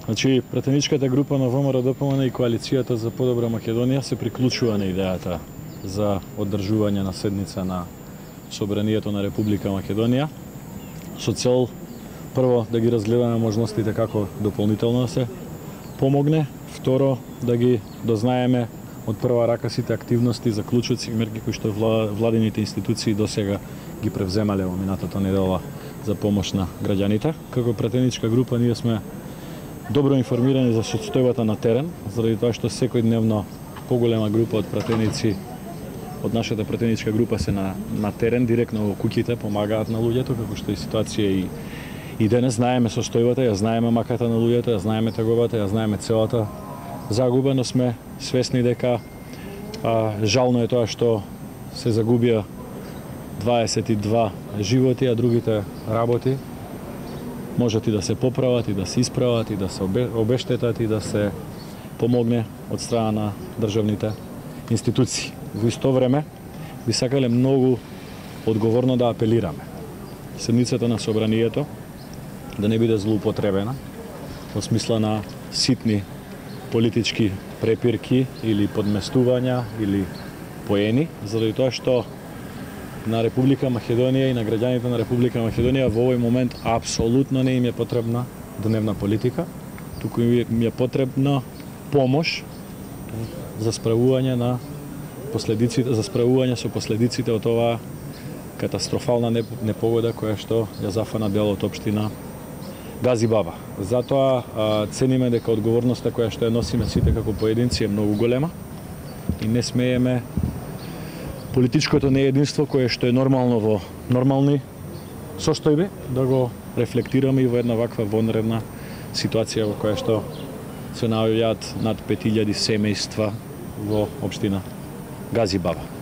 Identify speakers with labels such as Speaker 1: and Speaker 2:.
Speaker 1: Значи, претеничката група на ВМРО-ДПМН и Коалицијата за подобра Македонија се приклучува на идејата за одржување на седница на Собранието на Република Македонија, со цел прво да ги разгледаме можностите како дополнително да се помогне, второ да ги дознаеме од прва рака сите активности, заклучоци и мерки кои што владините институции досега ги превземале во минатата недела за помош на граѓаните. Како претеничка група ние сме добро информирани за состојбата на терен, заради тоа што секојдневно поголема група од пратеници од нашата пратеничка група се на терен, директно во куќите, помагаат на луѓето, како што е ситуација и денес. Знаеме состојбата, ја знаеме маката на луѓето, ја знаеме тагобата, ја знаеме целата загуба, но сме свесни дека жално е тоа што се загубија 22 животи, а другите работи можат и да се поправат, и да се исправат, и да се обештетат, и да се помогне од страна на државните институции. Во исто време би сакале многу одговорно да апелираме седницата на Собранието да не биде злоупотребена во смисла на ситни политички препирки или подместувања или поени, заради тоа што на Република Македонија и на граѓаните на Република Македонија во овој момент апсолутно не им е потребна дневна политика, туку им е потребна помош за справување на последиците, за справување со последиците од оваа катастрофална непогода која што ја зафана дел од општина Газибаба. Затоа цениме дека одговорноста која што ја носиме сите како поединци е многу голема и не смееме политичкото неединство кое што е нормално во нормални состојби да го рефлектираме и во една ваква вонредна ситуација во која што се наоѓаат над 5000 семејства во општина Газибаба.